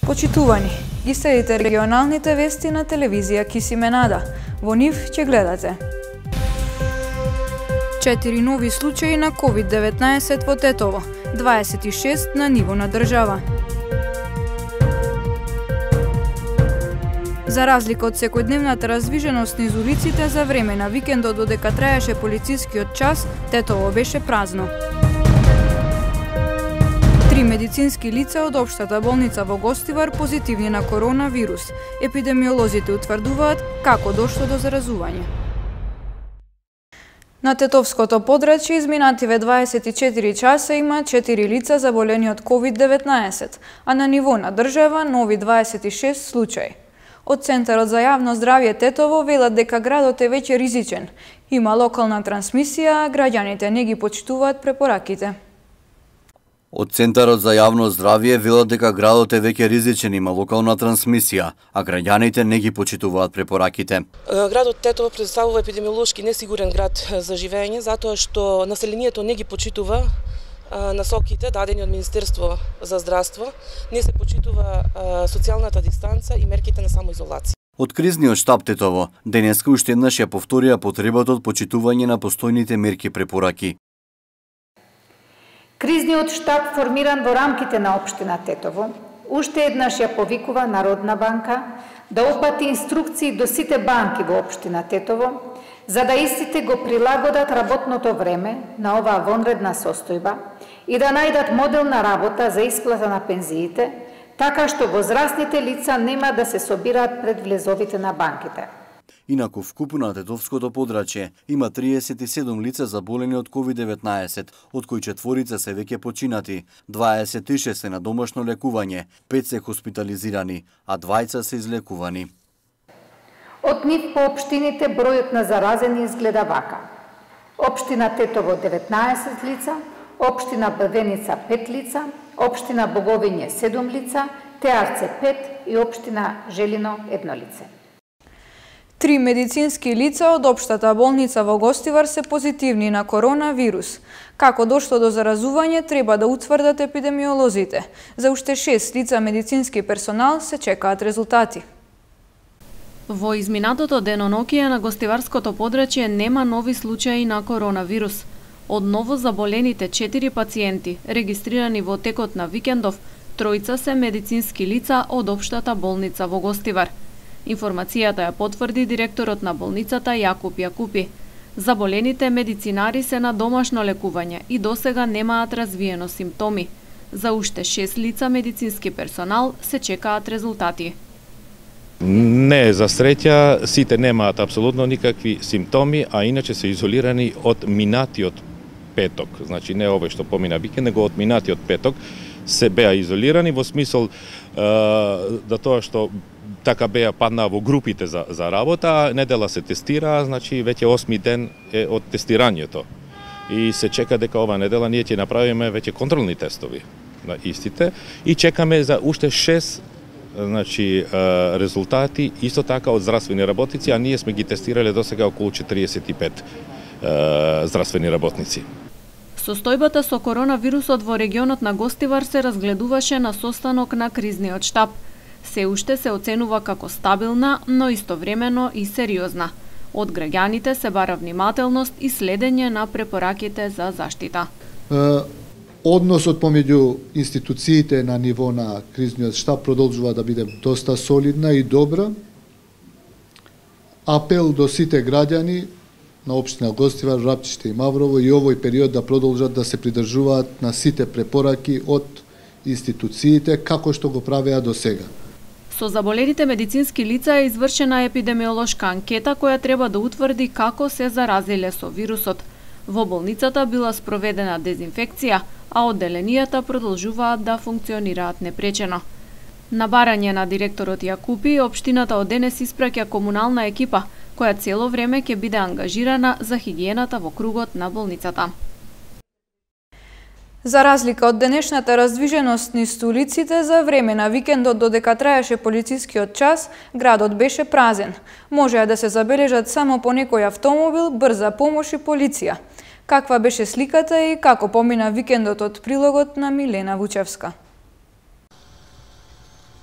Почитувани, ги следите регионалните вести на телевизија Кисименада. Во нив ќе гледате 4 нови случаи на COVID-19 во Тетово, 26 на ниво на држава. За разлика од секојдневната раздвиженост низ улиците за време на викендот додека траеше полицискиот час, Тетово беше празно. 3 медицински лица од општата болница во Гостивар позитивни на коронавирус. Епидемиолозите утврдуваат како дошло до заразување. На Тетовското подрачје изминативе 24 часа има 4 лица заболени од COVID-19, а на ниво на држава нови 26 случаи. Од Центарот за јавно здравје Тетово велат дека градот е веќе ризичен. Има локална трансмисија, а граѓаните не ги почитуваат препораките. Од Центарот за јавно здравје велат дека градот е веќе ризичен, има локална трансмисија, а граѓаните не ги почитуваат препораките. Градот Тетово представува епидемиолошки несигурен град за живење, затоа што населението не ги почитува насоките дадени од Министерство за здравство, не се почитува социјалната дистанца и мерките на самоизолација. Од кризниот штаб Тетово денеска уште еднаш ја повторија потребата од почитување на постојните мерки препораки. Кризниот штаб формиран во рамките на општина Тетово уште еднаш ја повикува Народна банка да опати инструкции до сите банки во општина Тетово, за да истите го прилагодат работното време на оваа вонредна состојба и да најдат модел на работа за исплата на пензиите, така што возрастните лица нема да се собираат пред влезовите на банките. Инаку вкупно на Тетовското подрачје има 37 лица заболени од COVID-19, од кои 4 се веќе починати, 26 се на домашно лекување, 5 се хоспитализирани, а 2 се излекувани. Од нив по општините бројот на заразени изгледа вака. Општина Тетово 19 лица, општина Брвеница 5 лица, општина Боговиње 7 лица, Теарце 5 и општина Желино 1 лице. 3 медицински лица од општата болница во Гостивар се позитивни на коронавирус. Како дошло до заразување треба да утврдат епидемиолозите. За уште 6 лица медицински персонал се чекаат резултати. Во изминатото денонокие на Гостиварското подрачје нема нови случаи на коронавирус. Од ново заболените 4 пациенти, регистрирани во текот на викендов, 3 се медицински лица од општата болница во Гостивар. Информацијата ја потврди директорот на болницата Јакуп Јакупи. Заболените медицинари се на домашно лекување и досега немаат развиено симптоми. За уште 6 лица медицински персонал се чекаат резултати. Не, за среќа, сите немаат апсолутно никакви симптоми, а иначе се изолирани од минатиот петок. Значи не овој што помина викенд, него од минатиот петок се беа изолирани во смисол да тоа што така беа паднаа во групите за работа, а недела се тестира, значи веќе 8 ден е од тестирањето. И се чека дека ова недела ние ќе направиме веќе контролни тестови на истите и чекаме за уште 6 резултати исто така од здравствени работници, а ние сме ги тестирале досега околу 45 здравствени работници. Состојбата со коронавирусот во регионот на Гостивар се разгледуваше на состанок на кризниот штаб. Се уште се оценува како стабилна, но истовремено и сериозна. Од граѓаните се бара внимателност и следење на препораките за заштита. Односот помеѓу институциите на ниво на кризниот штаб продолжува да биде доста солидна и добра. Апел до сите граѓани на општина Гостивар, Рапчиште и Маврово и овој период да продолжат да се придржуваат на сите препораки од институциите како што го правеа до сега. Со заболените медицински лица е извршена епидемиолошка анкета која треба да утврди како се заразиле со вирусот. Во болницата била спроведена дезинфекција, а одделенијата продолжуваат да функционираат непречено. На барање на директорот Јакупи, општината од денес испраќа комунална екипа, која цело време ќе биде ангажирана за хигиената во кругот на болницата. За разлика од денешната раздвиженост низ улиците, за време на викендот додека траеше полицискиот час, градот беше празен. Можеа да се забележат само по некој автомобил, брза помош и полиција. Каква беше сликата и како помина викендот од прилогот на Милена Вучевска?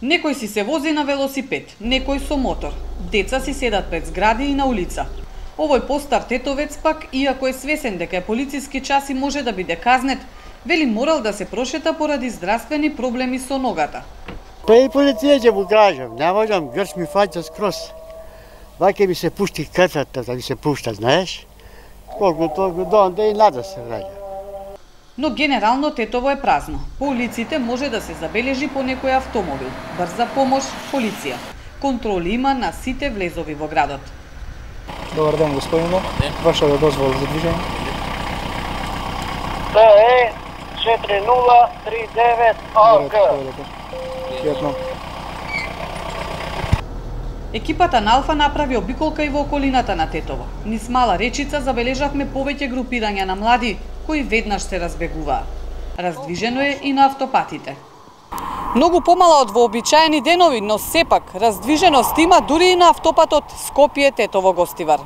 Некој си се вози на велосипед, некој со мотор. Деца си седат пред згради и на улица. Овој постар тетовец пак, иако е свесен дека е полициски час и може да биде казнет, вели морал да се прошета поради здравствени проблеми со ногата. Па и полиција ќе му кажам, не можам, грч ми фаќа скроз. Ваќе ми се пушти крцата, да ми се пушта, знаеш? Колку толку до онде и назад се враќа. Но генерално Тетово е празно. По улиците може да се забележи по некој автомобил, брза помош, полиција. Контроли има на сите влезови во градот. Добар ден, господине. Ваша да дозвола за движење? Тоа е 4039 АГ. Екипата на Алфа направи обиколка и во околината на Тетово. Низ Мала Речица забележавме повеќе групирања на млади кои веднаш се разбегуваа. Раздвижено е и на автопатите. Многу помала од вообичаени денови, но сепак раздвиженост има дури и на автопатот Скопје-Тетово-Гостивар.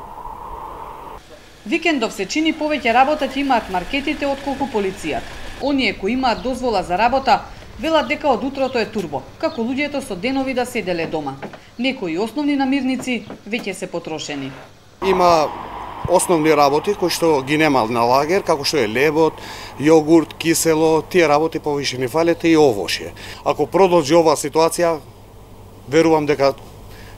Викендов се чини повеќе работа ќе имаат маркетите отколку полицијата. Оние кои имаат дозвола за работа велат дека од утрото е турбо, како луѓето со денови да седеле дома. Некои основни намирници веќе се потрошени. Има основни работи кои што ги нема на лагер, како што е лебот, јогурт, кисело, тие работи повише ни фалете и овошје. Ако продолжи оваа ситуација, верувам дека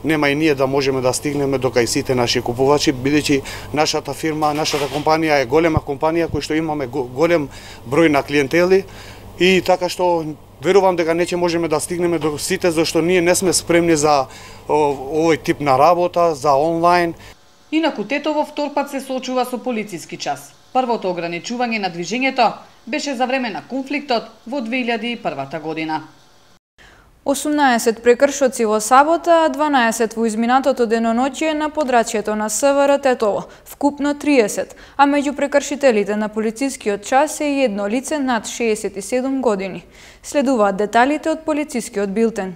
нема и ние да можеме да стигнеме до кај сите наши купувачи, бидејќи нашата фирма, нашата компанија е голема компанија кој што имаме голем број на клиентели и така што верувам дека не ќе можеме да стигнеме до сите зашто ние не сме спремни за овој тип на работа, за онлайн. Инаку Тетово втор пат се соочува со полициски час. Првото ограничување на движењето беше за време на конфликтот во 2001 година. 18 прекршоци во сабота, а 12 во изминатото деноноќие на подрачјето на СВР Тетово, вкупно 30, а меѓу прекршителите на полицискиот час е и едно лице над 67 години. Следуваат деталите од полицискиот билтен.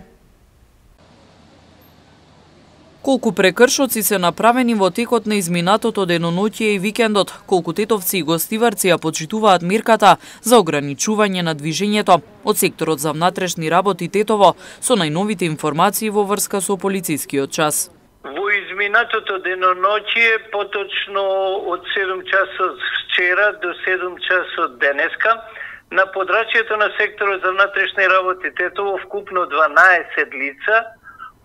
Колку прекршоци се направени во текот на изминатото деноноќие и викендот, колку тетовци и гостиварци ја почитуваат мерката за ограничување на движењето од секторот за внатрешни работи Тетово со најновите информации во врска со полицискиот час. Во изминатото деноноќие, поточно од 7 часот вчера до 7 часот денеска, на подрачјето на секторот за внатрешни работи Тетово вкупно 12 лица,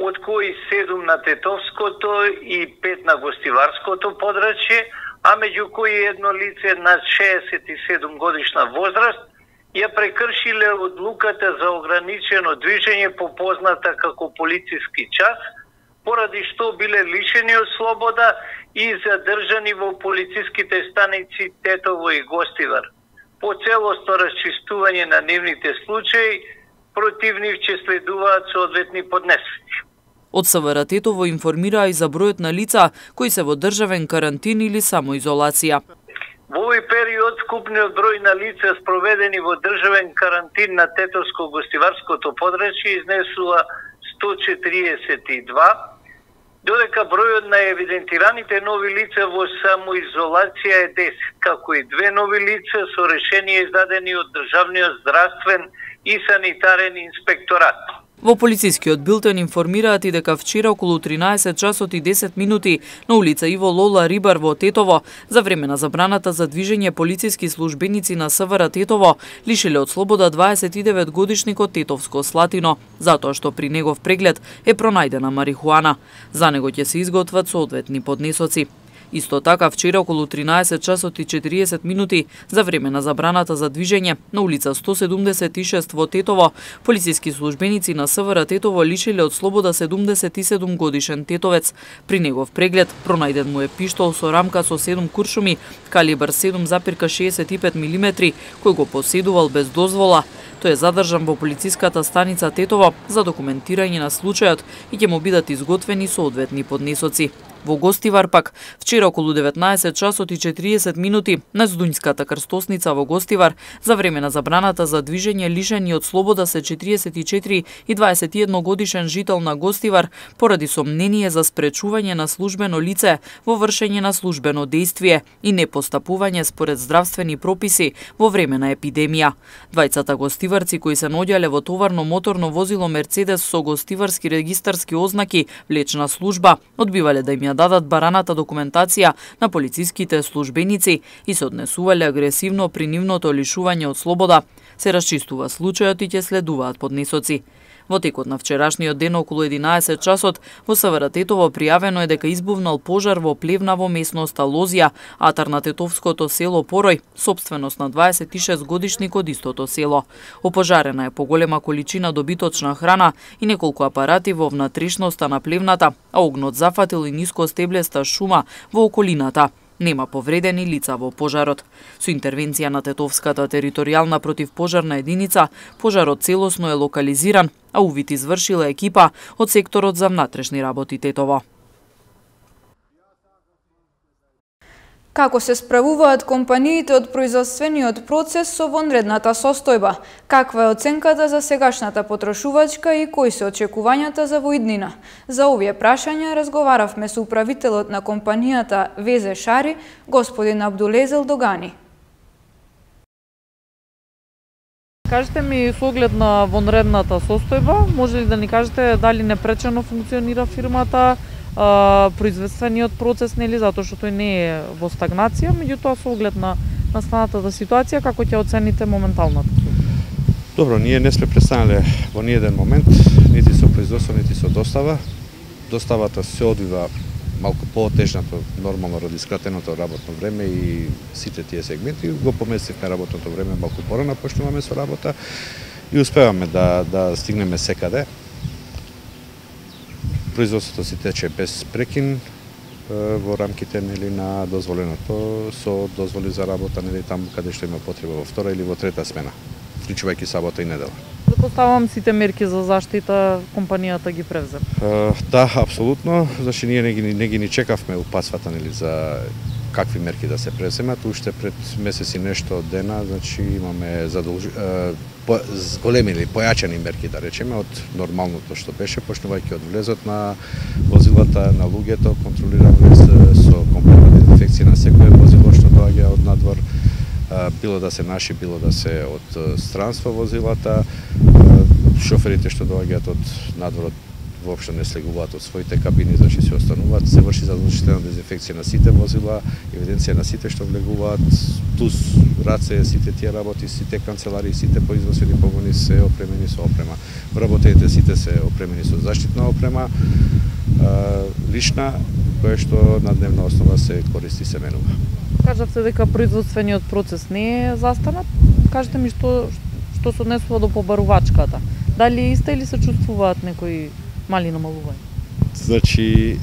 од кои 7 на Тетовското и 5 на Гостиварското подрачје, а меѓу кои едно лице на 67 годишна возраст, ја прекршиле одлуката за ограничено движење попозната како полициски час, поради што биле лишени од слобода и задржани во полициските станици Тетово и Гостивар. По целосно расчистување на нивните случаи, против нив ќе следуваат соодветни поднесоци. Од СВР Тетово информираа и за бројот на лица кои се во државен карантин или самоизолација. Во овој период вкупниот број на лица спроведени во државен карантин на Тетовско-Гостиварското подрачје изнесува 142, додека бројот на евидентираните нови лица во самоизолација е 10, како и 2 нови лица со решение издадени од Државниот здравствен и санитарен инспекторат. Во полицискиот билтен информираат и дека вчера околу 13 часот и 10 минути на улица Иво Лола Рибар во Тетово, за време на забраната за движење полициски службеници на СВР Тетово, лишиле од слобода 29 годишникот Тетовско Слатино, затоа што при негов преглед е пронајдена марихуана. За него ќе се изготват соодветни поднесоци. Исто така, вчера околу 13 часот и 40 минути за време на забраната за движење на улица 176 во Тетово, полициски службеници на СВР Тетово лишиле од слобода 77 годишен тетовец. При негов преглед пронајден му е пиштол со рамка со 7 куршуми, калибар 7,65 мм, кој го поседувал без дозвола. Тој е задржан во полициската станица Тетово за документирање на случајот и ќе му бидат изготвени соодветни поднесоци. Во Гостивар пак, вчера околу 19 часот и 40 минути на Здуњската крстосница во Гостивар за време на забраната за движење лишени од слобода се 44 и 21 годишен жител на Гостивар поради сомнение за спречување на службено лице во вршење на службено дејствие и непостапување според здравствени прописи во време на епидемија. Двајцата гостиварци кои се наоѓале во товарно моторно возило Мерцедес со гостиварски регистарски ознаки влечна служба одбивале да им ја дадат бараната документација на полициските службеници и се однесувале агресивно при нивното лишување од слобода. Се расчистува случајот и ќе следуваат поднесоци. Во текот на вчерашниот ден околу 11 часот во СВР Тетово пријавено е дека избувнал пожар во плевна во местноста Лозија, атар на тетовското село Порој, собственост на 26 годишник од истото село. Опожарена е поголема количина добиточна храна и неколку апарати во внатрешноста на плевната, а огнот зафатил и ниско стеблеста шума во околината. Нема повредени лица во пожарот. Со интервенција на Тетовската територијална противпожарна единица, пожарот целосно е локализиран, а увид извршила екипа од секторот за внатрешни работи Тетово. Како се справуваат компаниите од производствениот процес со вонредната состојба? Каква е оценката за сегашната потрошувачка и кои се очекувањата за во иднина? За овие прашања разговаравме со управителот на компанијата Везе Шари, господин Абдулезел Догани. Кажете ми со оглед на вонредната состојба, може ли да ни кажете дали непречено функционира фирмата, производствениот процес, нели, затоа што тој не е во стагнација, меѓутоа со оглед на настанатата ситуација, како ќе оцените моменталната? Добро, ние не сме престанале во ниеден момент, нити со производство, нити со достава. Доставата се одвива малку поотежнато, нормално ради скратеното работно време и сите тие сегменти. Го поместивме работното време малку порано, почнуваме со работа и успеваме да стигнеме секаде. Производството си тече без прекин во рамките, нели, на дозволеното, со дозволи за работа, нели, таму каде што има потреба во втора или во трета смена, вклучувајќи сабота и недела. Запоставам сите мерки за заштита компанијата ги превзе. Да, апсолутно, значи ние не ги чекавме упатствата, нели, за какви мерки да се преземат. Уште пред месец и нешто дена, значи имаме зголемени, појачени мерки, да речеме, од нормалното што беше, почнувајќи од влезот на возилата, на луѓето, контролиран влез со комплетна дезинфекција на секое возило што доаѓа од надвор, било да се наши, било да се од странство возилата, шоферите што доаѓаат од надворот воопшто не слегуваат од своите кабини, значи се остануваат, се врши задолжителна дезинфекција на сите возила, евиденција на сите што влегуваат, плюс раце, сите тие работи, сите канцеларии, сите производствени погони се опремени со опрема. Вработените сите се опремени со заштитна опрема, лична, која што на дневна основа се користи и се менува. Кажавте дека производствениот процес не е застанат. Кажете ми што се однесува до побарувачката. Дали е иста или се чувствуваат некои мали намалувања? Значи,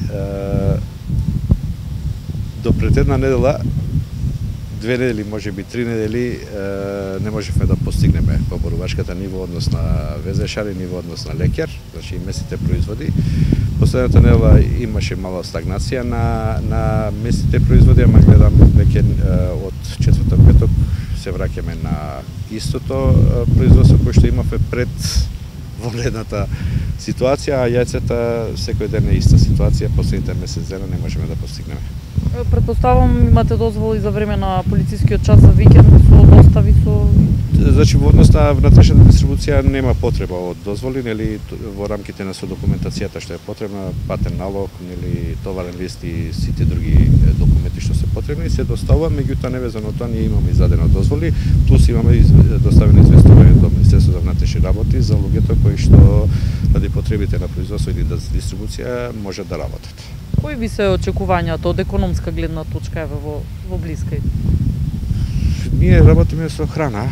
до пред една недела, 2 недели, може би 3 недели, не можевме да постигнеме побарувачката ни во однос на Везешар и ни во однос на лекар, значи и местните производи. Последната недела имаше мала стагнација на местните производи, ама гледам веќе од четврток петок се враќаме на истото производство кој што имавме пред вонредната ситуација, а јајцата секој ден е иста ситуација, последните месец дена не можеме да постигнеме. Предпоставам имате дозволи за време на полицискиот час за викенд со достави со... Значи во однос на внатрешната дистрибуција нема потреба од дозволи, нели, во рамките на документацијата што е потребна, патен налог, нели, товарен лист и сите други документи што се потребни се доставува, меѓутоа невезано тоа ние имаме издадено дозволи, плюс имаме доставено известување до Министерството за внатрешни работи за луѓето кои што ради потребите на производство или дистрибуција можат да работат. Кои би се очекувањата од економска гледна точка еве во блискај? Ние работиме со храна.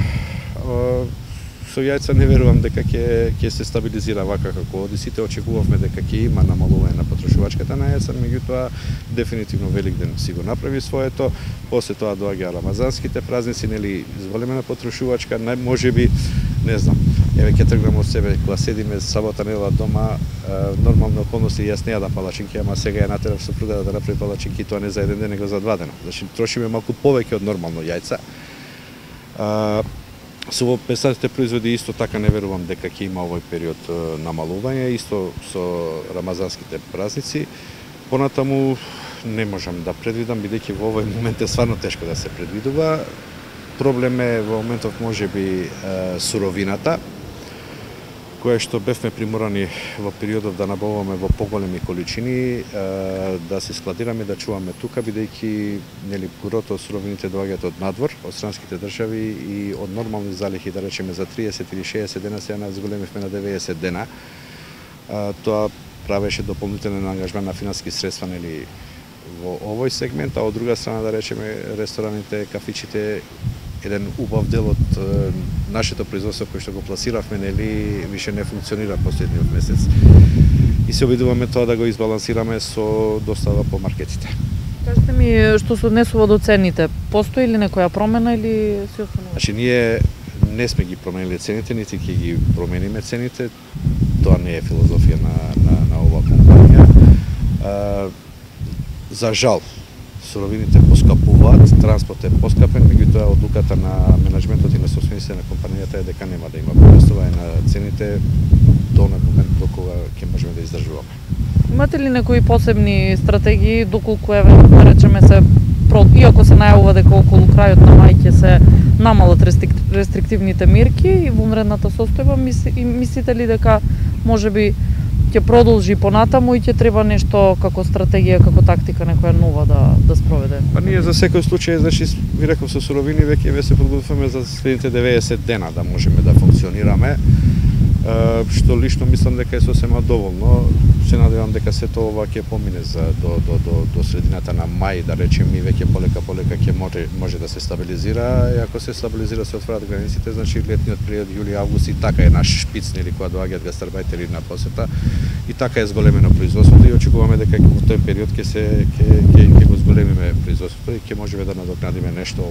Со јајца не верувам дека ќе се стабилизира вака како оди. Сите очекувавме дека ќе има намалување на потрошувачката на јајца, меѓутоа дефинитивно Великден си го направи своето. После тоа доаѓа рамазанските празници, нели, зголемена потрошувачка, можеби, не знам, Еве ќе тргнам од себе, кога седиме сабота недела дома, нормални околности јас не јадам палачинки, ама сега ја натерав сопруга да направи палачинки, тоа не за еден ден, него за 2 дена. Значи трошиме малку повеќе од нормално јајца. Со песатите производи исто така не верувам дека ќе има овој период намалување, исто со рамазанските празници. Понатаму не можам да предвидам, бидејќи во овој момент е стварно тешко да се предвидува. Проблем е во моментов можеби суровината, која што бевме приморани во периодов да набавуваме во поголеми количини, да се складираме, да чуваме тука, бидејќи нели гурото од суровините доаѓаат од надвор, од странските држави и од нормални залихи, да речеме за 30 или 60 дена, сега нас зголемивме на 90 дена. Тоа правеше дополнителен ангажман на финански средства нели во овој сегмент, а од друга страна да речеме рестораните, кафичите, еден убав дел од нашето производство кој што го пласиравме, нели, више не функционира последниот месец. И се обидуваме тоа да го избалансираме со достава по маркетите. Кажете ми, што се однесува до цените, постои ли некоја промена или се останува? Значи, ние не сме ги променили цените, нити ќе ги промениме цените. Тоа не е филозофија на оваа компанија. За жал, суровините поскапуваат, транспорт е поскапен, меѓутоа одлуката на менеджментот и на собствениците на компанијата е дека нема да има повештување на цените до на момент до кога ќе можеме да издржуваме. Имате ли некои посебни стратегии доколку да речеме се иако се најавува дека околу крајот на мај ќе се намалат рестриктивните мерки и вонредната состојба, мислите ли дека можеби ќе продолжи понатаму и ќе треба нешто како стратегија, како тактика некоја нова да спроведе? Па ние за секој случај, значи ви реков со суровини веќе се подготвуваме за следните 90 дена да можеме да функционираме, што лично мислам дека е сосема доволно. Се надевам дека сето ова ќе помине до средината на мај, да речеме, и веќе полека ќе може да се стабилизира. И ако се стабилизира, се отварат границите, значи летниот период јули-август и така е наш шпиц, нели, кога доаѓаат гастарбајтери на посета, и така е зголемено производството и очекуваме дека во тој период ќе го зголемиме производството и ќе можеме да надокнадиме нешто,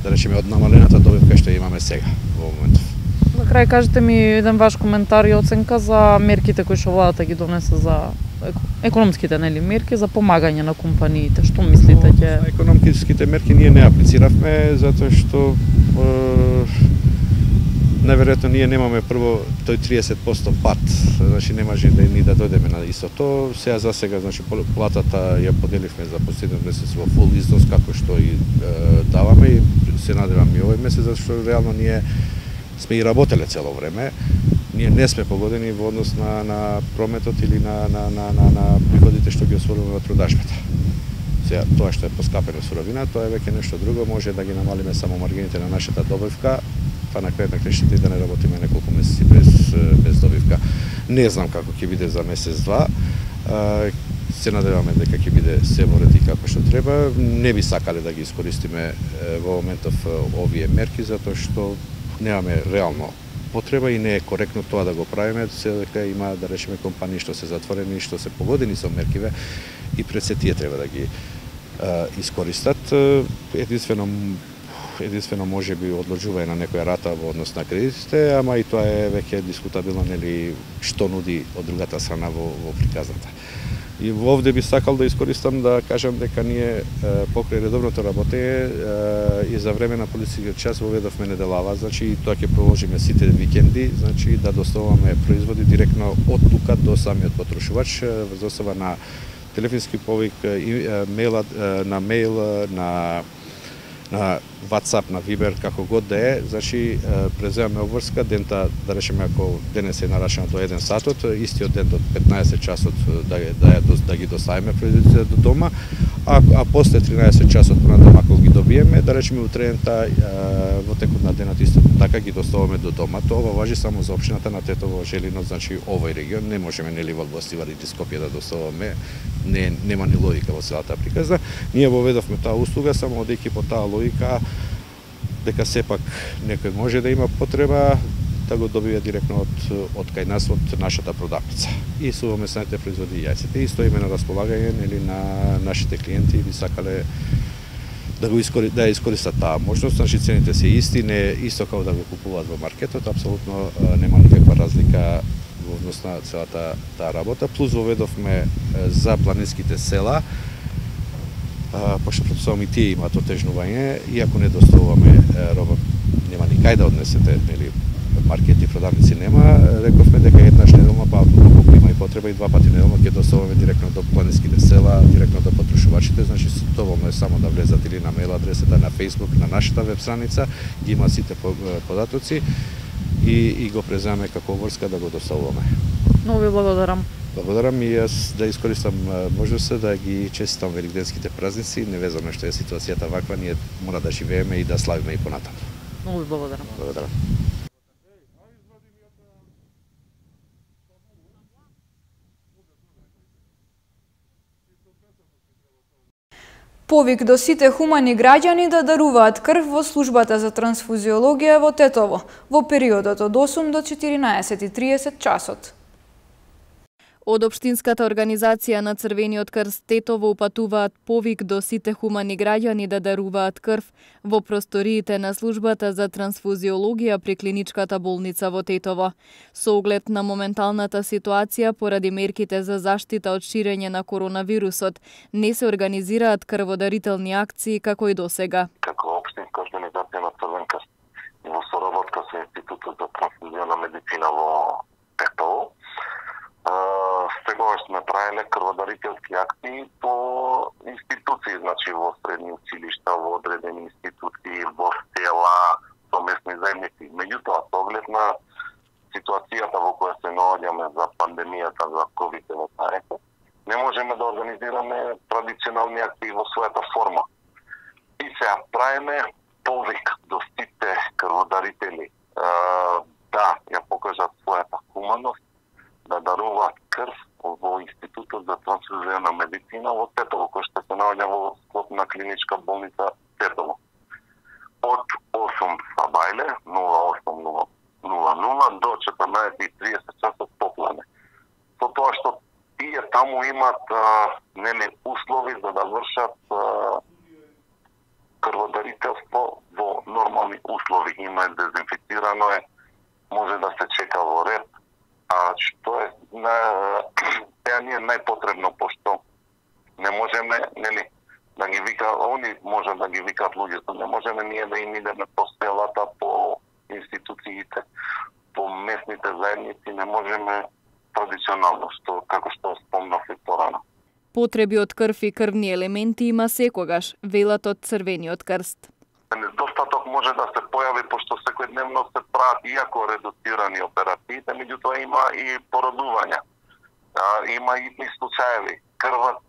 да речеме, од намалената добивка што имаме сега во моментов. На крај кажете ми еден ваш коментар и оценка за мерките кои што владата ги донесе за економските нели мерки за помагање на компаниите. Што мислите ќе? Економските мерки ние не аплициравме затоа што најверојатно ние немаме прво тој 30% пат, значи не може да ни да дојдеме на истото. Сега за сега, значи платата ја поделивме за последниот месец во фул износ како што и даваме и се надевам и овој месец, зашто реално ние сме и работеле цело време. Ние не сме погодени во однос на прометот или на приходите што ги освојуваме од продажбата. Сега, тоа што е поскапено суровина, тоа е веќе нешто друго, може да ги намалиме само маргините на нашата добивка, па на крајот на крајшите и да не работиме неколку месеци без добивка. Не знам како ќе биде за месец-два. Се надеваме дека ќе биде се во ред и како што треба. Не би сакале да ги искористиме во моментов овие мерки, затоа што немаме реално потреба и не е коректно тоа да го правиме, се дека има, да речеме, компании што се затворени и што се погодени со меркиве и пред се тие треба да ги искористат. Единствено може би одложување на некоја рата во однос на кредитите, ама и тоа е веќе дискутабилно, нели, што нуди од другата страна во приказната. И овде би сакал да искористам да кажам дека ние покрај редовното работење и за време на полицискиот час воведовме неделава, значи тоа ќе продолжиме сите викенди, значи да доставуваме производи директно од тука до самиот потрошувач врз основа на телефонски повик, на мејл, на WhatsApp, на Viber, како год да е, значи преземаме обврска, дента, да речеме, ако денес е нарачено до 1 сатот, истиот ден до 15 часот да ги доставиме производите до дома, а после 13 часот понатаму ако ги добиеме, да речеме утрената во текот на денот исто така ги доставуваме до дома. Тоа важи само за општината на Тетово, Желино, значи овој регион, не можеме нели во Бостивар или Скопје да доставуваме, нема ни логика во целата приказна. Ние воведовме таа услуга само одејќи по таа логика дека сепак некој може да има потреба да го добие директно од кај нас, од нашата продавница. И сувомесните производи јајците. И стоиме на располагање нели на нашите клиенти и би сакале да искористат таа можност, значи цените се исти, не исто како да го купуваат во маркетот, апсолутно нема никаква разлика во однос на целата таа работа. Плюс воведовме за планинските села, пошто претпоставувам и тие имаат отежнување, иако не доставуваме роба, нема никај да однесете, нели, маркети, продавници нема, рековме дека еднаш неделно, па ако има и потреба и 2 пати неделно ќе доставуваме директно до планинските села, директно до потрошувачите, значи доволно е само да влезат или на мейл адресата, на Facebook, на нашата веб страница, ги има сите податоци и го преземаме како врска да го доставуваме. Много ви благодарам. Благодарам и јас да искористам можноста да ги честитам великденските празници, невезано што е ситуацијата ваква, ние мора да живееме и да славиме и понатаму. Много ви благодарам. Благодарам. Повик до сите хумани граѓани да даруваат крв во службата за трансфузиологија во Тетово во периодот од 8 до 14:30 часот. Од Општинската организација на Црвениот крст Тетово упатуваат повик до сите хумани граѓани да даруваат крв во просториите на службата за трансфузиологија при клиничката болница во Тетово. Со оглед на моменталната ситуација поради мерките за заштита од ширење на коронавирусот, не се организираат крводарителни акции како и досега. Како Општинска организација на Црвен крст и во соработка со Институтот за трансфузиона медицина во Тетово, сегаш сме правиле крводарителски акции по институции, значи во средни училишта, во одредени институции, во села, со местни заедници. Меѓутоа, со оглед на ситуацијата во која се наоѓаме за пандемијата за COVID-19, не можеме да организираме традиционални акции во својата форма. И сега правиме повик до сите крводарители да ја покажат својата хуманост, да даруваат крв во Институтот за трансфузиона медицина во Тетово, кој што се наоѓа во склоп на клиничка болница Тетово. Од 8 сабајле, 08:00 до 14:30 часот попладне. Со тоа што тие таму имат услови за да вршат крводарителство во нормални услови. Има дезинфицирано е, може да се чека во ред, а што е теа ни е најпотребно, пошто не можеме, нели, да ги они може да ги викаат луѓето, не можеме ние да им идеме по селата, по институциите, по местните заедници, не можеме традиционално, како што спомнав и порано. Потреби од крв и крвни елементи има секогаш, велат од Црвениот крст. Недостаток може да се појави, пошто секојдневно се прават, иако редуцирани операциите, меѓутоа има и породувања. Има и случаеви. Крв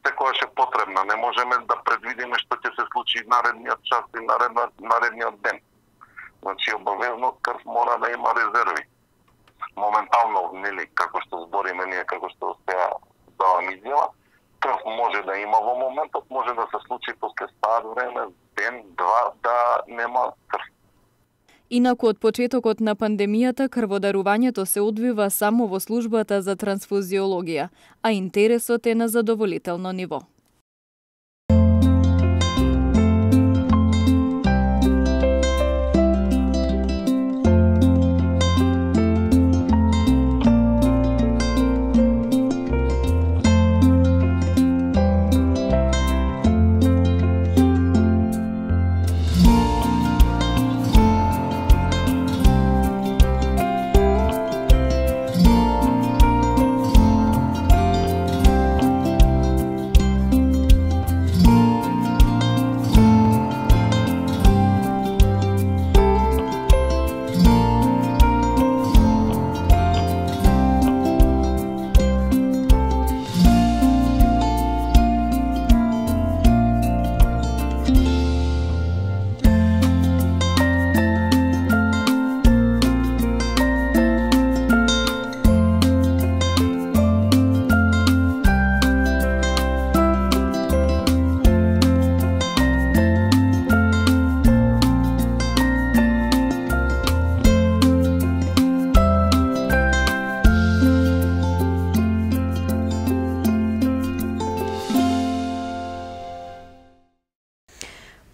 секојаш е потребна. Не можеме да предвидиме што ќе се случи наредниот час и наредниот ден. Значи, обавезно крв мора да има резерви. Моментално, нели, како што збориме ние, како што сега давам изјава, крв може да има во моментот, може да се случи после стар време, ден, два, да нема крв. Инаку од почетокот на пандемијата крводарувањето се одвива само во службата за трансфузиологија, а интересот е на задоволително ниво.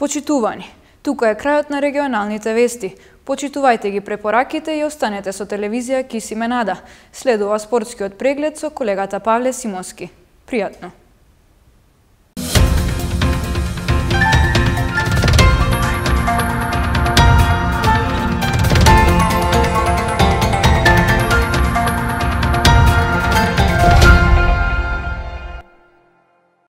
Почитувани, тука е крајот на регионалните вести. Почитувајте ги препораките и останете со телевизија Кис и Менада. Следува спортскиот преглед со колегата Павле Симонски. Пријатно!